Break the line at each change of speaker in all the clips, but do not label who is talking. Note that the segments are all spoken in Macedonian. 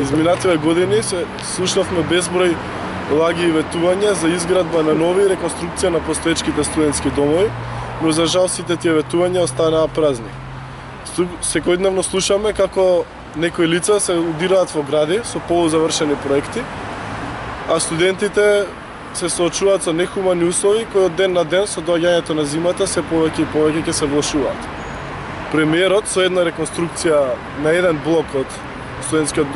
Изминативе години се слушнавме безброј лаги и ветувања за изградба на нови и реконструкција на постоечките студентски домови, но за жал сите тие ветувања останаа празни. Секојдневно слушаме како некои лица се удираат во гради со полузавршени проекти, а студентите се соочуваат со нехумани услови кои од ден на ден со доаѓањето на зимата се повеќе и повеќе ќе се влошуваат. Премиерот со една реконструкција на еден блок од студентскиот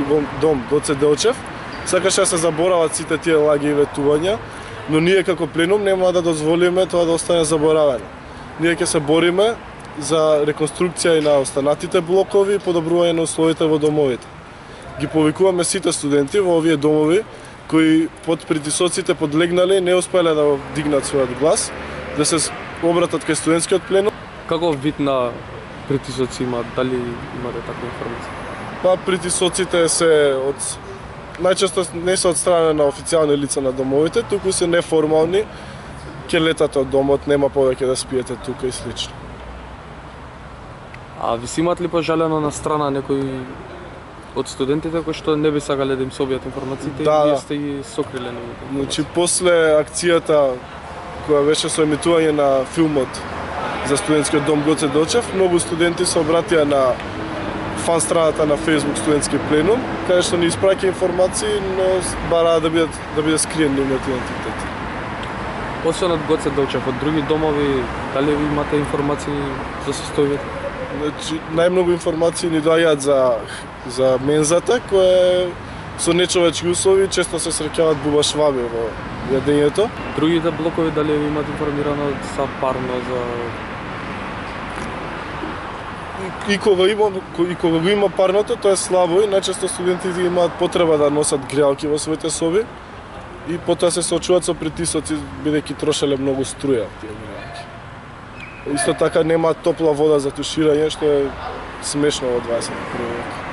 дом Гоце Делчев сакаше да се заборават сите тие лаги и ветувања, но ние како пленум нема да дозволиме тоа да остане заборавено. Ние ќе се бориме за реконструкција и на останатите блокови и подобрување на условите во домовите. Ги повикуваме сите студенти во овие домови кои под притисоците подлегнале и не успеле да дигнат својот глас, да се обратат кај студентскиот пленум.
Каков вид на притисоци има? Дали имате таква информација?
Па притисоците се најчесто не се од страна на официјални лица на домовите, туку се неформални. Ќе летате од домот, нема повеќе да спиете тука и слично.
А ви си имат ли пожалено на страна некои од студентите кои што не би сакале да им собијат информациите и вие сте ги сокриле новите?
Значи, после акцијата која беше со емитување на филмот за студентскиот дом Гоце Делчев, многу студенти се обратија на фан страната на Facebook студентски пленум, каде што ни испраќа информации, но бараа да биде скриен нивниот идентитет.
Освен од Гоце Делчев, од други домови, дали ви имате информации за состојбите?
Значи, најмногу информации ни доаѓаат за мензата, која е со нечовечки услови, често се среќаваат бубашваби во јадењето.
Другите блокови, дали ви имат информирано за парно, за...
И кога го има парното, тоа е слабо и најчесто студентите имаат потреба да носат греалки во своите соби и потоа се соочуваат со притисоци, бидејќи трошеле многу струја тие греалки. Исто така немаат топла вода за туширање, што е смешно во 21 век.